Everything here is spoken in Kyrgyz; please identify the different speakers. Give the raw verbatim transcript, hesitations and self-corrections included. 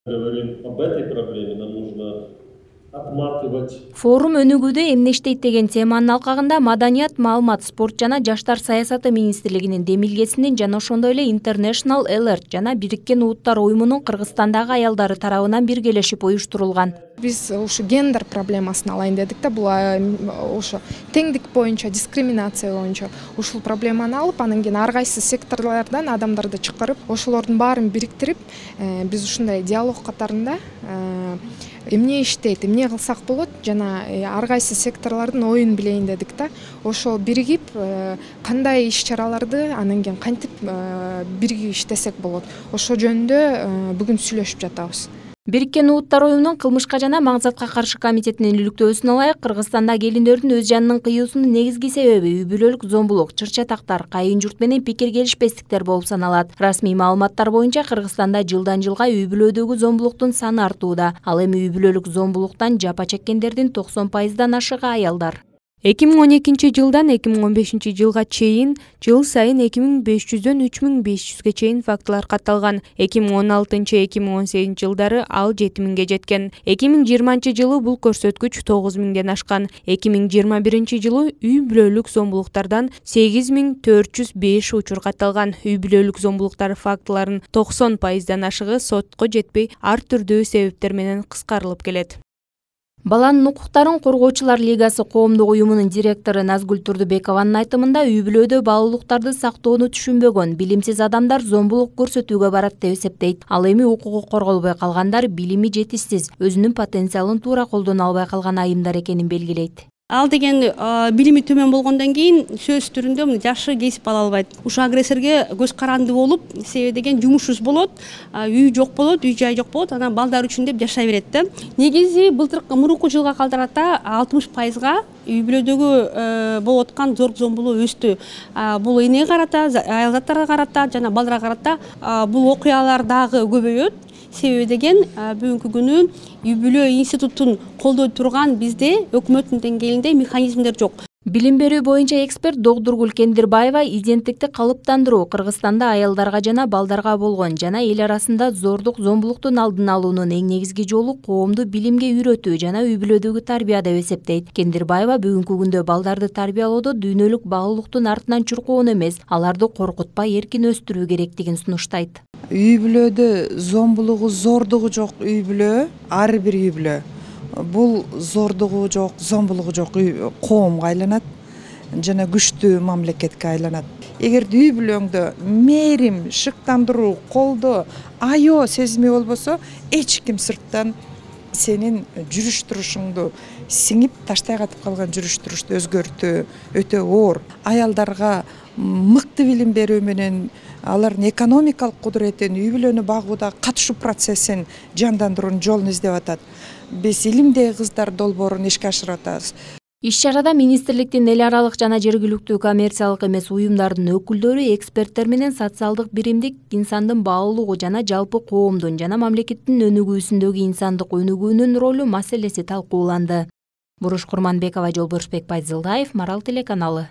Speaker 1: Говорим об этой проблеме, нам нужно отматывать.
Speaker 2: Форум өнүгүүдө эмнештейт деген теманын алкагында Маданият, маалымат, спорт жана жаштар саясаты министрлигинин демилгесинин жана ошондой эле International Alert жана Бириккен Улуттар уюмунун Кыргызстандагы аялдары тарабынан биргелешип уюштурулган.
Speaker 3: Биз ушу гендер проблемасын алайын дедик да, бул ошо теңдик боюнча, дискриминация боюнча ушул проблеманы алып, анан кийин ар кайсы секторлордон адамдарды чакырып, ошолордун баарын бириктирип, биз ушундай диалог катарында эмне иштейт, эмне кылсак болот жана ар кайсы секторлордун оюн билейин дедик да. Ошол биригип кандай иш-чараларды анан кийин кантип биригип иштесек болот. Ошол жөнүндө бүгүн сүйлөшүп жатабыз.
Speaker 2: Бириккен Улуттар уюмунун кылмышка жана маң-затка каршы комитетинин иликтөөсүнө ылайык, Кыргызстанда келиндердин өз жанынын кыюусунун негизги себеби үй бүлөлүк зомбулук, чыр-чатактар, кайын журт менен пикир келишпестиктер болуп саналат. Расмий маалыматтар боюнча Кыргызстанда жылдан жылга үй бүлөдөгү зомбулуктун саны артууда. Ал эми үй бүлөлүк зомбулуктан жапа чеккендердин токсон пайыздан ашыгы аялдар. эки миң он экинчи жылдан эки миң он бешинчи жылга чейин жыл сайын эки миң беш жүздөн үч миң беш жүзгө чейин фактылар катталган. эки миң он алтынчы — эки миң он сегизинчи жылдары ал жети миңге жеткен. эки миң жыйырманчы жылы бул көрсөткүч тогуз миңден ашкан. эки миң жыйырма биринчи жылы үй бүлөлүк зомбулуктардан сегиз миң төрт жүз беш учур катталган. Үй бүлөлүк зомбулуктар фактыларынын токсон пайыздан ашыгы сотко жетпей ар түрдүү себептер менен кыскарылып келет. Баланын укуктарын коргоочулар лигасы коомдук уюмунун директору Назгүл Турдубекованын айтымында, үй бүлөдө баалуулуктарды сактоону түшүнбөгөн билимсиз адамдар зомбулук көрсөтүүгө барат деп эсептейт. Ал эми укугу корголбой калгандар билими жетишсиз, өзүнүн потенциалын туура колдоно албай калган айымдар экенин белгилейт.
Speaker 4: Ал деген билими төмөн болгондон кийин сөз түрүндө жакшы кесип ала албайт. Ушул агрессорго көз каранды болуп, себеби деген жумушсуз болот, үй жок болот, үй жай жок болот, анан балдар үчүн деп жашай берет да. Негизи былтыркы мурунку жылга калтырата алтымыш пайызга үй бүлөдөгү болуп аткан зордук зомбулук өстү. Бул энеге карата, аял заттарга карата жана балдарга карата бул окуялар дагы көбөйөт. Себеби деген бүгүнкү күнү үй бүлө институтун колдой турган бизде өкмөттүн деңгээлинде механизмдер жок.
Speaker 2: Билим берүү боюнча эксперт Догдургүл Кендирбаева иденттикти калыптандыруу, Кыргызстанда аялдарга жана балдарга болгон жана эл арасында зордук зомбулуктун алдын алуунун эң негизги жолу коомду билимге үйрөтүү жана үй бүлөдөгү тарбия деп эсептейт. Кендирбаева бүгүнкү күндө балдарды тарбиялоодо дүйнөлүк баалуулуктун артынан чуркоону эмес, аларды коркутпай эркин өстүрүү керектигин сунуштайт.
Speaker 5: Үй бүлөдө зомбулугу, зордугу жок үй бүлө, ар бир үй бүлө бул зордугу жок, зомбулугу жок коомго айланат жана күчтүү мамлекетке айланат. Эгерде үй бүлөңдө мээрим, шыктандыруу, колдоо, аё сезими болбосо, эч ким сырттан сенин жүрүш турушуңду сиңип таштай катып калган жүрүш турушты өзгөртүү өтө оор. Аялдарга мыкты билим берүү менен алардын экономикалык кудуретин, үй бүлөнү багууда катышуу процессин жандандыруунун жолун издеп атат. Биз илимдеги кыздар долбоорун ишке ашырып атабыз.
Speaker 2: Иш-чарада министрликтин эл аралык жана жергиликтүү коммерциялык эмес уюмдардын өкүлдөрү, эксперттер менен социалдык биримдик, инсандын баалуулугу жана жалпы коомдун жана мамлекеттин өнүгүүсүндөгү инсандык өнүгүүнүн ролу маселеси талкууланды. Буруш Курманбекова, Жолборшбек Байзылдаев, Марал телеканалы.